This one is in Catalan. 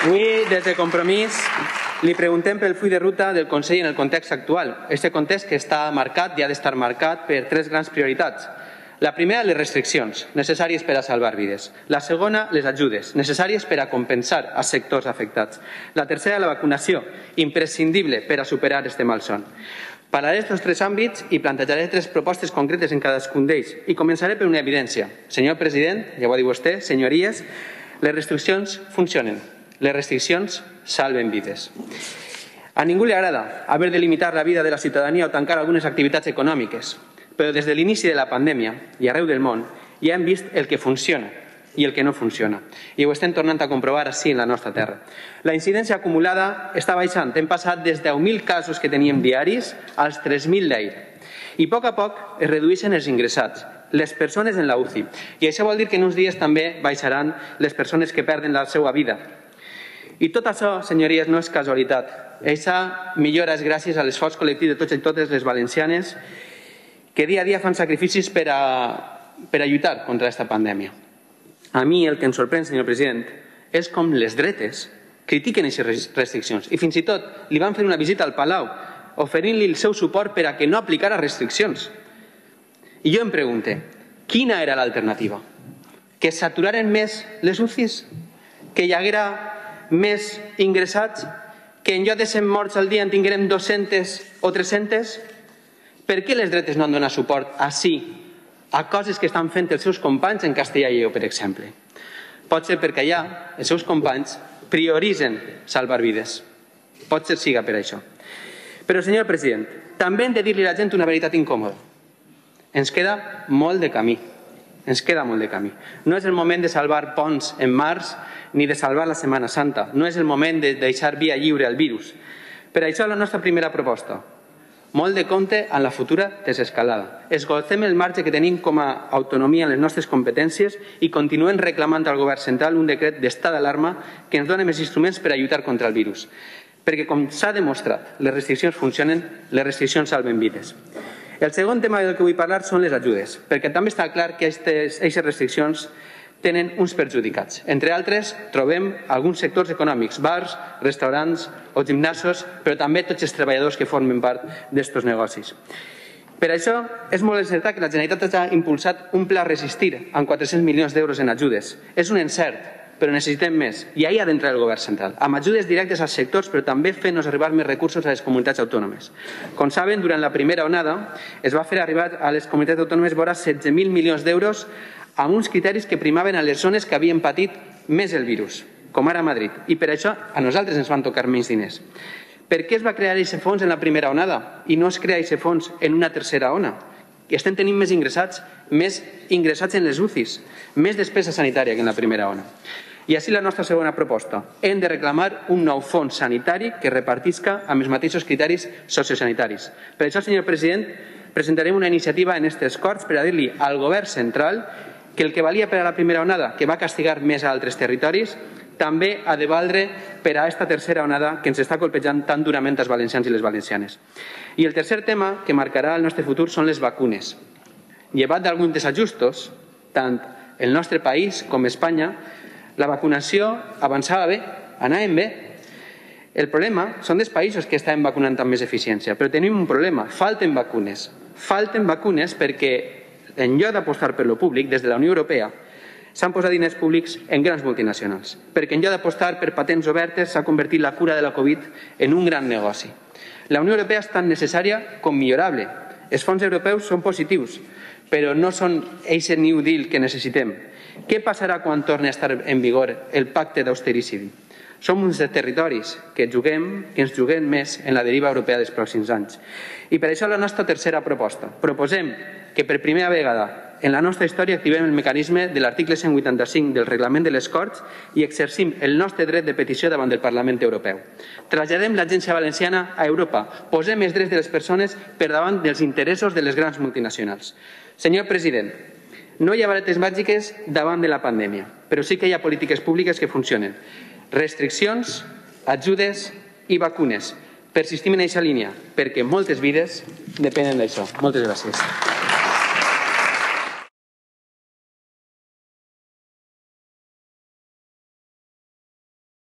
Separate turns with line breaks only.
Avui, des de Compromís, li preguntem pel full de ruta del Consell en el context actual. Aquest context que està marcat i ha d'estar marcat per tres grans prioritats. La primera, les restriccions, necessàries per a salvar vides. La segona, les ajudes, necessàries per a compensar els sectors afectats. La tercera, la vacunació, imprescindible per a superar este malson. Parlaré d'estos tres àmbits i plantejaré tres propostes concretes en cadascun d'ells. I començaré per una evidència. Senyor president, ja ho ha dit vostè, senyories, les restriccions funcionen. Les restriccions salven vides. A ningú li agrada haver de limitar la vida de la ciutadania o tancar algunes activitats econòmiques, però des de l'inici de la pandèmia i arreu del món ja hem vist el que funciona i el que no funciona. I ho estem tornant a comprovar així en la nostra terra. La incidència acumulada està baixant. Hem passat des de 10.000 casos que teníem diaris als 3.000 d'ahir. I a poc es redueixen els ingressats, les persones en la UCI. I això vol dir que en uns dies també baixaran les persones que perden la seva vida. I tot això, senyories, no és casualitat. Aquesta millora és gràcies a l'esforç col·lectiu de tots i totes les valencianes que dia a dia fan sacrificis per a lluitar contra aquesta pandèmia. A mi el que em sorprèn, senyor president, és com les dretes critiquen aquestes restriccions i fins i tot li van fer una visita al Palau oferint-li el seu suport per a que no aplicara restriccions. I jo em pregunto, quina era l'alternativa? Que s'aturaren més les UCIs? Que hi haguera més ingressats? Que en lloc de 100 morts al dia en tinguérem 200 o 300? Per què les dretes no han donat suport així a coses que estan fent els seus companys en Castella i Lleó, per exemple? Pot ser perquè allà els seus companys prioritzen salvar vides. Pot ser siga per això. Però, senyor president, també hem de dir-li a la gent una veritat incòmoda. Ens queda molt de camí. Ens queda molt de camí. No és el moment de salvar ponts en març ni de salvar la Setmana Santa. No és el moment de deixar via lliure al virus. Per això la nostra primera proposta. Molt de compte amb la futura desescalada. Esgotem el marge que tenim com a autonomia en les nostres competències i continuem reclamant al govern central un decret d'estat d'alarma que ens doni més instruments per a lluitar contra el virus. Perquè, com s'ha demostrat, les restriccions funcionen, les restriccions salven vides. El segon tema del que vull parlar són les ajudes, perquè també està clar que aquestes restriccions tenen uns perjudicats. Entre altres, trobem alguns sectors econòmics, bars, restaurants o gimnasos, però també tots els treballadors que formen part d'aquests negocis. Per això, és molt encertat que la Generalitat ha impulsat un pla Resistir amb 400 milions d'euros en ajudes. És un encert, però necessitem més, i ahí ha d'entrar el govern central, amb ajudes directes als sectors, però també fent-nos arribar més recursos a les comunitats autònomes. Com saben, durant la primera onada es va fer arribar a les comunitats autònomes vora 16.000 milions d'euros amb uns criteris que primaven a les zones que havien patit més el virus, com ara Madrid, i per això a nosaltres ens van tocar menys diners. Per què es va crear aquest fons en la primera onada i no es crea aquest fons en una tercera ona? Estem tenint més ingressats en les UCIs, més despesa sanitària que en la primera ona. I així la nostra segona proposta. Hem de reclamar un nou fons sanitari que repartisca amb els mateixos criteris sociosanitaris. Per això, senyor president, presentarem una iniciativa en aquestes Corts per a dir-li al govern central que el que valia per a la primera onada, que va castigar més a altres territoris, també ha de valdre per a aquesta tercera onada que ens està colpejant tan durament als valencians i les valencianes. I el tercer tema que marcarà el nostre futur són les vacunes. Llevat d'alguns desajustos, tant el nostre país com Espanya, la vacunació avançava bé, anàvem bé. El problema són dels països que estaven vacunant amb més eficiència, però tenim un problema, falten vacunes. Falten vacunes perquè en lloc d'apostar per lo públic, des de la Unió Europea, s'han posat diners públics en grans multinacionals, perquè en lloc d'apostar per patents obertes s'ha convertit la cura de la Covid en un gran negoci. La Unió Europea és tan necessària com millorable. Els fons europeus són positius, però no són aquest New Deal que necessitem. Què passarà quan torni a estar en vigor el pacte d'austericidi? Som uns territoris que ens juguem més en la deriva europea dels pròxims anys. I per això la nostra tercera proposta. Proposem que per primera vegada en la nostra història activem el mecanisme de l'article 185 del reglament de les Corts i exercim el nostre dret de petició davant del Parlament Europeu. Traslladem l'Agència Valenciana a Europa. Posem els drets de les persones per davant dels interessos de les grans multinacionals. Senyor president, no hi ha varetes màgiques davant de la pandèmia, però sí que hi ha polítiques públiques que funcionen. Restriccions, ajudes i vacunes. Persistim en aquesta línia, perquè moltes vides depenen d'això. Moltes gràcies.